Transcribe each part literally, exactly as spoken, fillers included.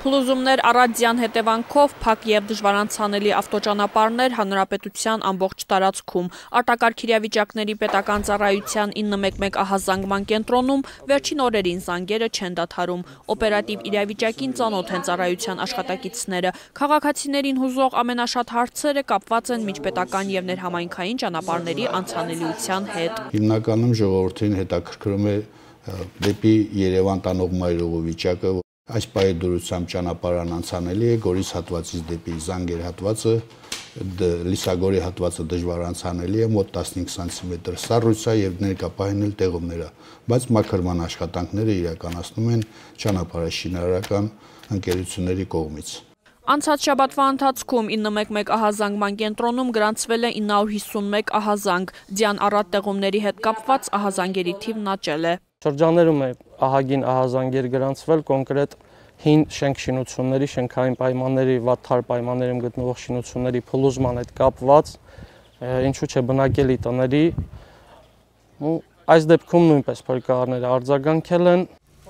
Փլուզումներ առանձյան հետևանքով փակ եւ դժվարանցանելի ավտոճանապարհներ հանրապետության ամբողջ տարածքում։ Արտակարգ իրավիճակների պետական ծառայության ինը մեկ մեկ ահազանգման կենտրոնում վերջին օրերին զանգերը չեն դադարում։ Օպերատիվ իրավիճակին ծանոթ են ծառայության աշխատակիցները։ Քաղաքացիներին հուզող ամենաշատ հարցերը կապված են միջպետական եւ ներհամայնքային ճանապարհների անցանելիության հետ։ Հիմնականում ժողովրդին հետաքրքրում է դեպի Երևան տանող մայրուղու վիճակը։ Այս պահի դուրսությամբ ճանապարհն անցանելի է, Գորիս հատվածից դեպի Զանգեր հատվածը, Լիսագորի հատվածը դժվար անցանելի է, մոտ տասնհինգ սանտիմետր սառույց է եւ ներկապահին էլ տեղումներ է, բայց մաքրման աշխատանքները իրականացնում են ճանապարհաշինարարական ընկերությունների կողմից։ Անցած շաբաթվա ընթացքում ինը մեկ մեկ ահազանգման կենտրոնում գրանցվել է ինը հարյուր հիսունմեկ ահազանգ, ձյան առատ տեղումների հետ կապված ահազանգերի թիվն աճել է։ Շրջաններում է ահագին ահազանգեր գրանցվել, կոնկրետ հին շենք շինությունների, շենքային պայմանների, վատ թար պայմաններում գտնվող շինությունների փլուզման հետ կապված, ինչու՞ չէ բնակելի տների, այս դեպքում նույնպես փրկարարները արձագանքել են։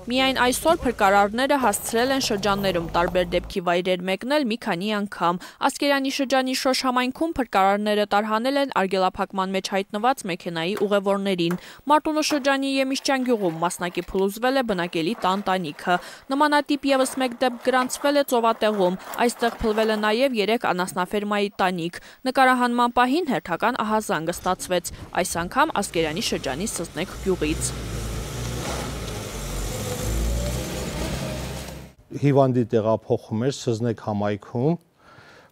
Միայն այսօր փրկարարները հասցրել են շրջաններում տարբեր դեպքի վայրեր մեկնել մի քանի անգամ։ Ասկերանի շրջանի Շոշ համայնքում փրկարարները տարհանել են արգելափակման մեջ հայտնված մեքենայի ուղևորներին։ Մարտունու շրջանի Եմիշչյան գյուղում մասնակի փլուզվել է բնակելի տան տանիքը։ Նմանատիպ եւս մեկ դեպք գրանցվել է Ծովատեղում։ Այստեղ փլվել է նաեւ երեք անասնաֆերմայի տանիք։ Նկարահանման պահին հերթական ահազանգը ստացվեց, այս անգամ Ասկերանի շրջանի Սզնեք գյուղից։ Հիվանդի տեղափոխում էր Սզնեք համայնքում,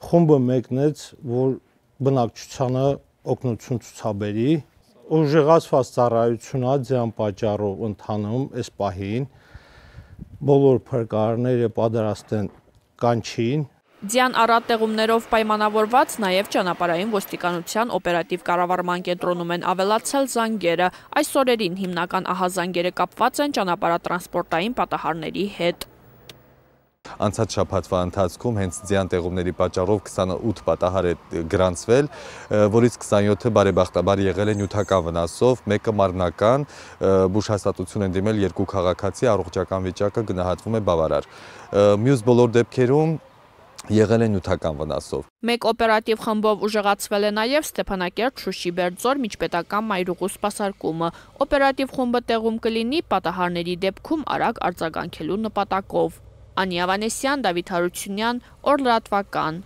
խումբը մեկնեց, որ բնակչությանը օգնություն ցուցաբերի, ուժեղացված ծառայությունա ձյան պատճառով ընթանում այս պահին, բոլոր փրկարարները պատրաստ են կանչին։ Ձյան առատ տեղումներով պայմանավորված նաև ճանապարհային ոստիկանության օպերատիվ կառավարման կենտրոնում են ավելացել զանգերը։ Այս օրերին հիմնական ահազանգերը կապված են ճանապարհատրանսպորտային պատահարների հետ։ Անցած շաբաթվա ընթացքում հենց ձյան տեղումների պատճառով քսանութ պատահար է գրանցվել, որից քսանյոթը բարեբախտաբար եղել է նյութական վնասով, մեկը մարմնական, բուժհաստատություն են դիմել երկու քաղաքացի, առողջական վիճակը գնահատվում է բավարար։ Մյուս բոլոր դեպքերում եղել է նյութական վնասով։ Մեկ օպերատիվ խմբով ուժեղացվել է նաև Ստեփանակերտ Շուշի Բերձոր միջպետական մայրուղու սպասարկումը։ Օպերատիվ խումբը տեղում կլինի պատահարների դեպքում արագ արձագանքելու նպատակով։ Անի Ավանեսյան, Դավիթ Հարությունյան, Օր լրատվական։